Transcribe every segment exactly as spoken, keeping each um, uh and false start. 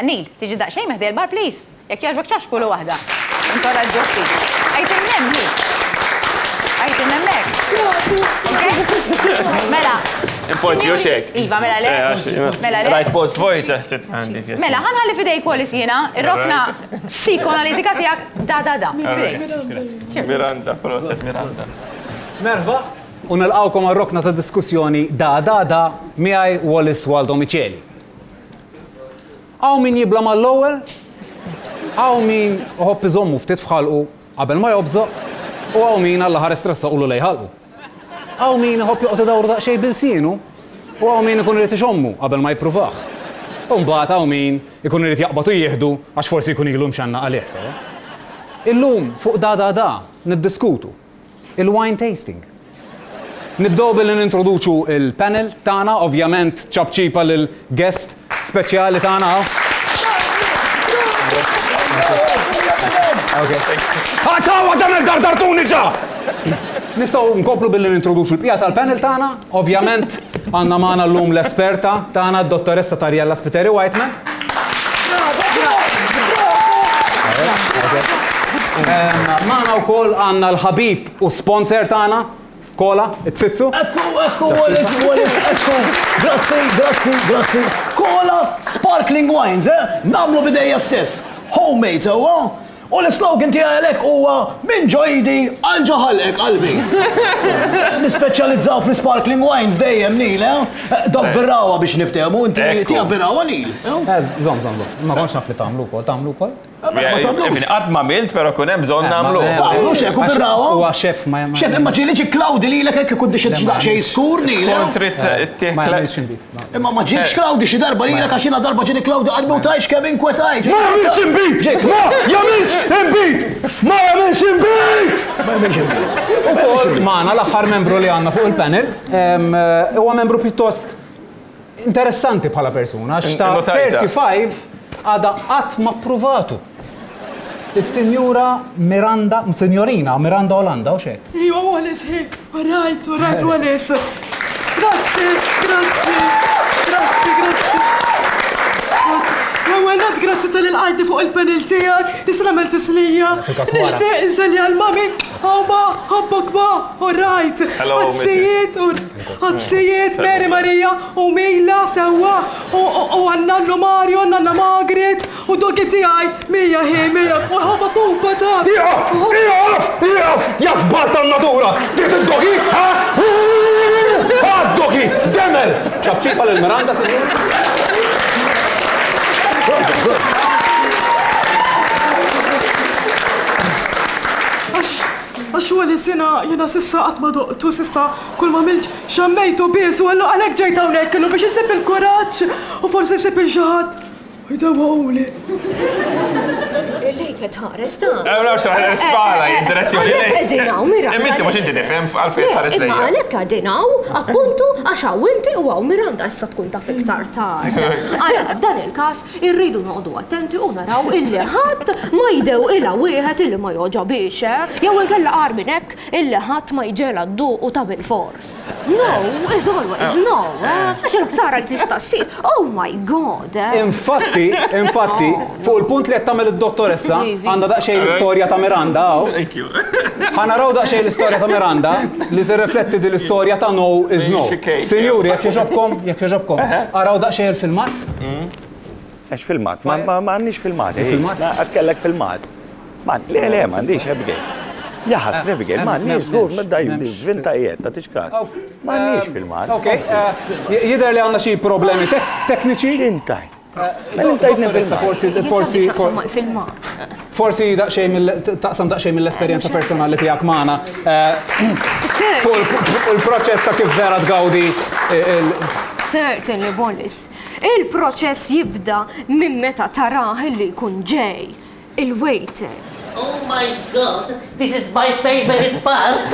Neil, tiġi daqsxejn meħdi l-bar, please. Jekk jogħġbok ċapċpulu waħda. Inkoraġġu ftit. Għajt imnem, hi. Għajt imnemmek. Mela. Impoġġi u xek. Iva, mela le. Mela le. Rajt post vojt, ħsibt għandi. Mela, ħa nħalli f'idejk Wallis jiena, ir-rokna psikoanalitika tiegħek da da da. F'idejk. Miranda, proset Miranda. Merħba, u nilqawkom għal-rokna ta' diskussjoni da da da miegħi Wallis Waldo Miceli. Hawn min jibla' mal-ewwel, hawn min iħobb iżommu ftit f'ħalqu qabel ma jobżoq, u hawn min għall ħares tressaqulu lejn ħalqu. Hawn min iħobb joqgħod idawru daqsxejn b'ilsienu, u hawn min ikun irid ixommu qabel ma jippruvah. U mbagħad hawn min ikun irid jaqbad u jieħdu għax forsi jkun ilu mxanna għalih sewa. Illum fuq da da da niddiskutu il-wine tasting. Nibdew billi nintroduċu il-panel tagħna, ovvjament ċapċipa lil guest speċjali tagħna. Ħatawa dan il-dardartuni ġa! Nistgħu nkomplu billi nintroduċu l-bqija tal-panel tagħna. Ovvjament għandna magħna llum l-esperta tagħna, d-dottoressa Tariella Spiteri Whiteman. Magħna wkoll għandna l-ħabib u sponsor tagħna, Kola, it-Tsitsu. Ekku, ekku, Wallis, Wallis, ekku. Grazzi, grazzi, grazzi. Kola Sparkling Wines, eh? Nagħmlu bidejja stess. Homemade, sewwa? U l-slogan tiegħi għalhekk huwa minn ġo idi għal ġo ħalqek qalbi. Nispeċjalizzaw fl-sparkling wines dejjem, Neil, eh? Dok birrawa biex niftehmu, inti tiegħek birrawa, Neil. Żomm, żomm, żomm. Ma kontx naf li tagħmlu wkoll, tagħmlu wkoll? Qatt ma għamilt, però kun hemm bżonn nagħmlu. Tagħmlu xek u birrawa? Huwa xef ma jagħmel. Xef, imma ġieli ġi Klawdi lilek hekk ikun dixed xi daqsxejn skur, Neil. Kont trid tieħ Ma jagħmilx inbid. Imma ma ġiekx Klawdi xi darba lilek għax jiena darba ġieli Klawdi qalbi u tajx kemm inkwetajt. Ma jagħmilx inbid! Ma jagħmilx inbid! Ma jagħmilx inbid! Ma jagħmilx inbid. Ukoll magħna l-aħħar membru li għandna fuq il-panel, huwa membru pjuttost interessanti bħala persuna, għax ta' thirty-five għadha qatt ma ppruvatu. Il-Sinjura Miranda, Sinjorina Miranda Olanda, u xek? Iwa, Wallis, hi, alright, alright, Wallis. Grazzi, grazzi, grazzi, grazzi. L-ewwel nett, grazzi tal-ilqajti fuq il-panel tiegħek, issa nagħmel tislija. Nixtieq inselli għal-mami, hawn ma, ħobbok ma, alright. Ħadsijiet, ħadsijiet, Mary Maria u Mila sewwa, u għan-nannu Mario, għan-nanna Margaret, u dogi tiegħi, Mija hi, Mija, u ħobba pupa ta'. Ieqaf, ieqaf, ieqaf, ja żball tan-natura, trid id-dogi, ha? Ha, dogi, demel! Ċapċipa lil Miranda, sinjur. Għax Wallis jiena jiena sissa qatt ma doqtu, sissa kull ma għamilt xammejtu biss u għalhekk ġejt hawnhekk illum biex insib il-kuraġġ u forsi nsib il xi ħadd jdewwaquli. Lejk qed tħares ta'. Ewra xi spala jiddirezzjoni lejk. Qegħdin hawn Miranda. Imma inti mhux inti tifhem għalfejn tħares lejja. Imma għalhekk qegħdin hawn, appuntu għax hawn inti u hawn Miranda issa tkun taf iktar tard. Ara f'dan il-każ irridu noqogħdu attenti u naraw illi ħadd ma jdewqilha wieħed illi ma jogħġobix, eh? Jew inkella qar minn hekk illi ħadd ma jġela dduqu ta' bil-fors. No, is always no, eh? Għax il-ħsara li tista' ssir. Oh my God! Infatti, infatti, fuq il-punt li qed tagħmel id-dottoressa, għandha daqsxejn l-istorja ta' Miranda hawn. Thank you. Ħa naraw daqsxejn l-istorja ta' Miranda li tirrifletti din l-istorja ta' no is no. Sinjuri, jekk jogħġobkom, jekk jogħġobkom, araw daqsxejn il-filmat. Għax filmat, ma għandniex filmat. Filmat? Għad kellek filmat. Le, le, m'għandix, Abigail. Ja ħasra, Abigail, m'għandniex żgur, ma daj, vinta qiegħed, tagħtix każ. M'għandniex filmat. Ok, jidher li għandna xi problemi tekniċi. X'intaj? Dottoressa, forsi, forsi, forsi daqsxejn taqsam daqsxejn mill-esperjenza personali tiegħek magħna. Fuq il-proċess ta' kif vera tgawdi il- Certainly, Wallis. Il-proċess jibda minn meta tarah li jkun ġej il-waiter. Oh my God, this is my favorite part.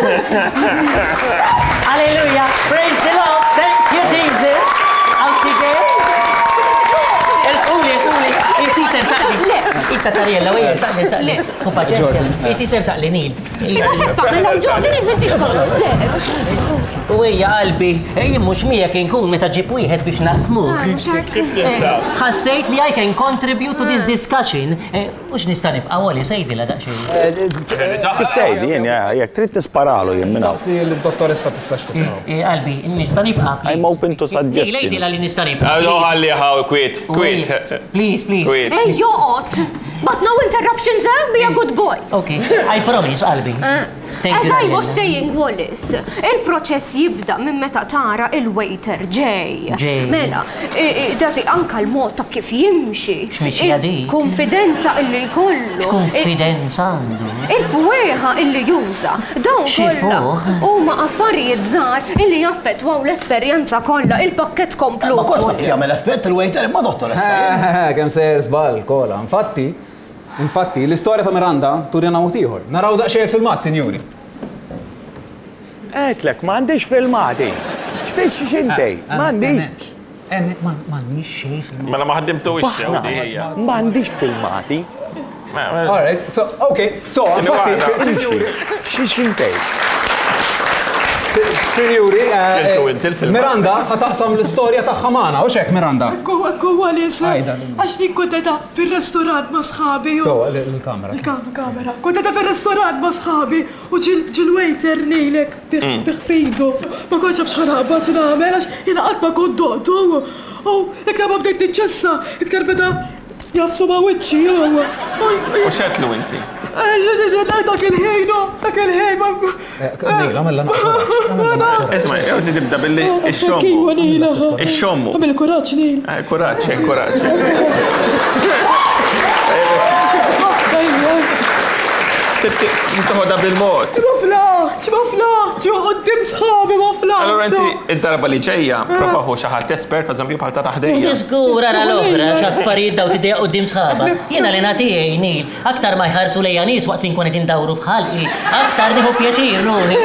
Hallelujah, praise the Lord, thank you Jesus. Out she goes. Ersquli, ersquli, inti sensaqni. Le, Issa Tariella, u saqli, saqli. Ku paċenzja. Isi ser saqli Neil. Iva x'qed tagħmel hawn Jordan, int m'intix konser. U hija qalbi, jien mhux miegħek inkun meta ġib wieħed biex naqsmuh. Kif tinsab? Ħassejt li I can contribute to this discussion. U x'nista' nibqa' Wally sejdilha daqsxejn. Kif tgħid jien jekk trid tisparalu jien minn hawn. Saqsi l-dottoressa tistax tibqa'. Qalbi, nista' nibqa'. I'm open to suggestions. Lejdilha li nista' nibqa'. Ħalli ħaw kwiet, kwiet. Please, please. Kwiet. Ej, joqgħod! But no interruptions, eh? Be a good boy. Okay, I promise, qalbi. Thank As you, I was Daniela. saying, Wallace, il-proċess jibda minn meta tara il-waiter ġej. Ġej. Mela, i- i- dati anka l-mod ta' kif jimxi. X'mixja dik? Konfidenza illi jkollu. Konfidenza għandu. Il-fwieħa illi juża. Dawn Xi kollha fuq? huma affarijiet żgħar illi jaffettwaw l-esperjenza kollha, il-pakkett komplut. Ma kontx taf jagħmel effett il-waiter imma dottoressa. Kemm sejjer żball, kola. Infatti, infatti, l-istorja ta' Miranda turina mod ieħor. Naraw daqsxejn il-filmat, sinjuri. Għedtlek, m'għandix filmati. X'fejn x'intej? M'għandix. M'għandix xejn filmat. Mela ma ħaddimtu Baħna, m'għandix filmati. All right, so, okay, so, infatti, Imxi. X'intej? Sinjuri, Keltu inti il-filmat. Miranda ħa taqsam l-istorja tagħha magħna, u xek Miranda? Ekku, ekku, Wallace. Għajda. Għax jien kont qiegħda fil-restorant ma' sħabi. u- So, l-kamera. Il-kamera. Kont qiegħda fil-restorant ma' sħabi u ġil-waiter nejlek biħfidu. Ma kontx naf x'ħa naqbad nagħmel għax jiena qatt ma kont doqtu. U iktar ma bdejt niċċessa, iktar beda jafsu ma' wiċċi. U x'għedtlu inti? Dak il-ħin, dak il-ħin. Neil, għamilla naqra. Isma', jew tibda billi ix-xommu. Iwa Neil. Ix-xommu. Għamil kuraġġ Neil. Eh, Kuraġġ, eh, kuraġġ. Toħodha bil-mod. Ma flaħtx, ma flaħtx, quddiem sħabi ma flaħtx. Allora inti id-darba li ġejja, prova ħu xi ħadd espert, per eżempju bħal ta' taħdejja. Żgur ara l-oħra, x'affarijiet daw tidejja quddiem sħaba. Jiena li nagħtijej Neil, aktar ma jħarsu lejja nies waqt li nkun qed indawru f'ħalqi, aktar nieħu pjaċir ruħi.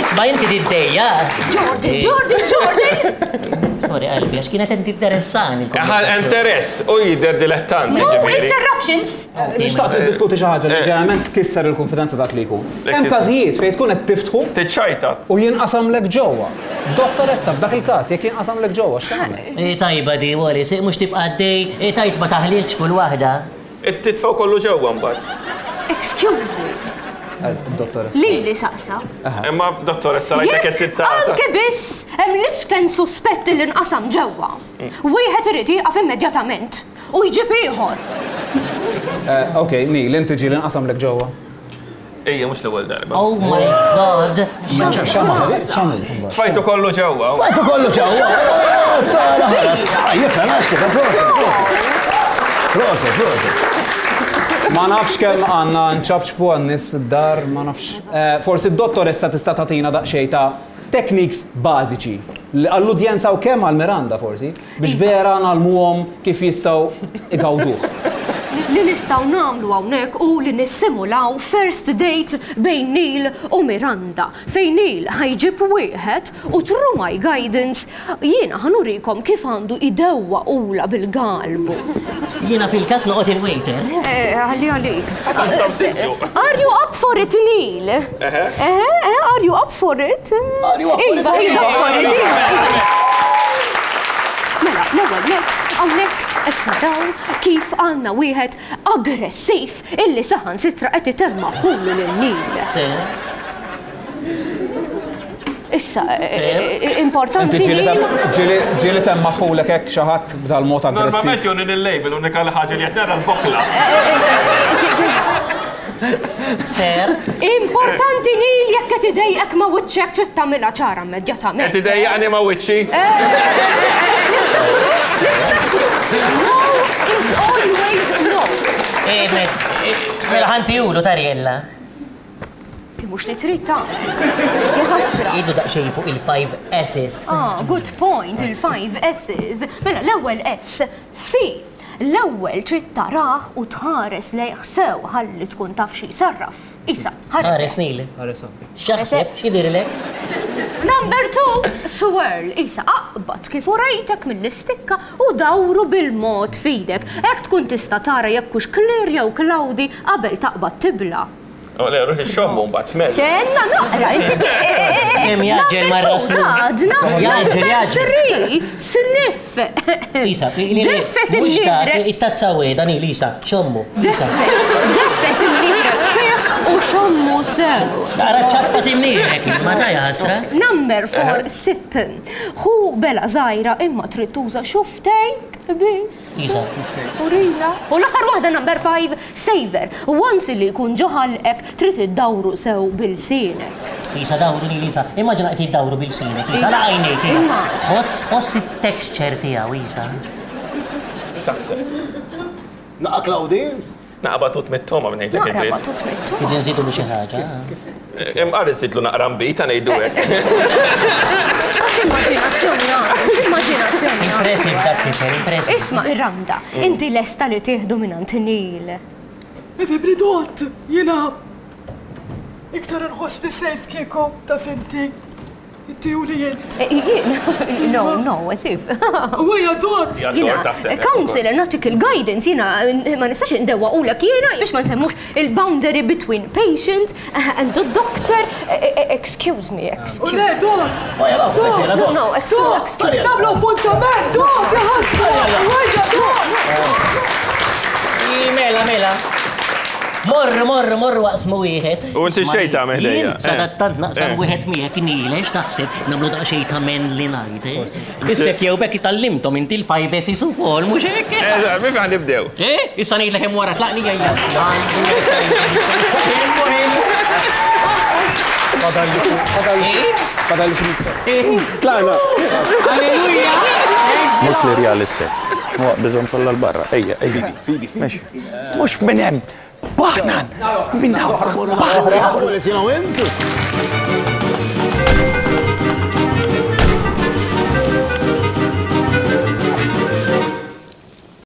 Isma' inti tiddejja. Jordan, Jordan, Jordan! Sorry qalbi, għax kienet qed tinteressani. Ħa interess u jidher dilettanti No ġifieri. interruptions! Nixtaq niddiskuti xi ħaġa li ġeneralment tkisser il-konfidenza dak li jkun. Hemm każijiet fejn tkun qed tiftħu Tiċċajta. u jinqasamlek ġewwa. Dottoressa, f'dak il-każ, jekk jinqasamlek ġewwa, x'tagħmel? Eh, Tajba di, Wallace, mhux tibqa' għaddej, eh, tajt ma taħlilx kull waħda. Titfgħu kollu ġewwa mbagħad. Excuse me, Dottoressa. lili saqsa. Imma dottoressa rajtek Jekk esittata. anke biss hemm l-iċken suspett li nqasam ġewwa. Wieħed irid jieqaf immedjatament u jġib ieħor. Ok, Neil, inti ġieli nqasamlek ġewwa. Ejja, mhux l-ewwel darba. Oh my God. X'għamel? X'għamel? Tfajtu kollu ġewwa. Fajtu kollu ġewwa. Sara ħarat. Jifhem, għax proset, proset. Proset, Ma nafx kemm għandna nċapċpu għan-nies id-dar, ma nafx. Eh, Forsi d-dottoressa tista' tagħtina daqsxejn ta' techniques bażiċi li għall-udjenza u kemm għal Miranda forsi biex vera ngħallmuhom kif jistgħu igawduh. Li nistgħu nagħmlu hawnhekk u li nissimulaw first date bejn Neil u Miranda. Fejn Neil ħa jġib wieħed u through my guidance jiena ħa nurikom kif għandu idewwa ula bil-galbu. Jiena fil-każ noqgħod il-waiter. Eh, Għalli għalik. Għansam siġġu. Are you up for it, Neil? Eh, eh, are you up for it? Are you up for it? Iva, he's up for it. Iva, iva. Mela, l-ewwel nett, hawnhekk qed naraw kif għandna wieħed aggressiv illi saħansitra qed itemma' ħulu lil Neil. Se, Issa, eh, eh, importanti Inti ġieli Neil. tem- ġieli ġieli temmaħulek hekk xi ħadd b'dal-mod aggressiv. Normalment joni il-label, unika ħaġa li qed nara l-bokla. ser. Importanti Neil jekk qed idejqek ma' wiċċek trid tagħmilha ċara immedjatament. Qed idejjaqni ma' wiċċi. No is always no. Eh, me- eh, Mela ħa ntihulu Tariella. Ti mhux li trid tagħmel. Jaħasra. Idu daqsxejn fuq il-five S's. Ah, good point, il-five S's. Mela, l-ewwel S, C. L-ewwel trid tarah u tħares lejh sew ħalli tkun taf xi jsarraf. Isa, Ħares ħares. Neil. Ħares X'jaħseb, x'jidhirlek? Number two, swirl. Isa, aqbad kif urejtek mill-istikka u dawru bil-mod fidek. Hekk tkun tista' tara jekk hux clear jew cloudy qabel taqbad tibla. U le, ruħi xommu mbagħad smell. Senna naqra, inti Kemm jaġġel ma raslu. Għadna, Jaġġel, jaġġel. Three, sniff. Isa, Deffes mhux dak, imnieħrek. it-tazza weda, Neil, Isa, xommu. Isa. Deffes, deffes imnieħrek fih u xommu sew. Tara ċappa simnieħrek, ma ta' jasra. Number four, sip. Hu bela żgħira imma trid tuża xuftejk biss. Isa. Urina. U l-aħħar waħda number five, savor. Once li jkun ġo ħalqek trid iddawru sew bil-sienek. Isa dawru Neil, Isa. Immaġina qed iddawru bil-sinek, Isa, la għajnejk. Imma. Ħoss, ħoss it-texture tiegħu, Isa. X'taħseb? Naqa Claudi? Naqa batut mit-toma minn ngħidlek Naqra id-dritt. batut mittu. Trid nżidu xi ħaġa. Imqar iżidlu naqra mbita ngħidu hekk. Għax immaġinazzjoni għandu, immaġinazzjoni għandu. Impressive dak tifel, impressive. Isma' Miranda, inti lesta li tieħdu minn Neil. Ifibri dot, jiena iktar nħossni safe kieku ta' finti. Inti u li jent. Eh, jien- No, no, as if. U hija dot. Ja, Jina, dor taħseb. counselor, natik il-guidance, jina, ma nistax indewa u lek jina, biex ma nsemmux il-boundary between patient and the doctor. Eh, eh, Excuse me, U excuse le dot. Oja, law, Dot. No, no, excuse, Dot. excuse. Nagħmlu appuntament, dot, jaħasra. U hija dot. Mela, mela. Morru, morru, morru waqsmu wieħed. U inti xejn tagħmel ħdejja? Jien sadattant naqsam Eh. wieħed miegħek Neil, x'taħseb nagħmlu daqsxejn ta' manly night, eh? Issek jew bekk tallimtom inti l-five S's ukoll, mhux hekk? Eh, Mif għan nibdew. Eh, issa ngħidlek hemm wara tlaqni ejja. Fadalli xi mistoqsija. Tlaqna. Alleluja! Mux klirja l-set. Bżon kollha l-barra. Ejja, ejja. Mexi. Mux minn hemm. Baħnan. Minn hawn. Baħnan. Wallace, jiena u int.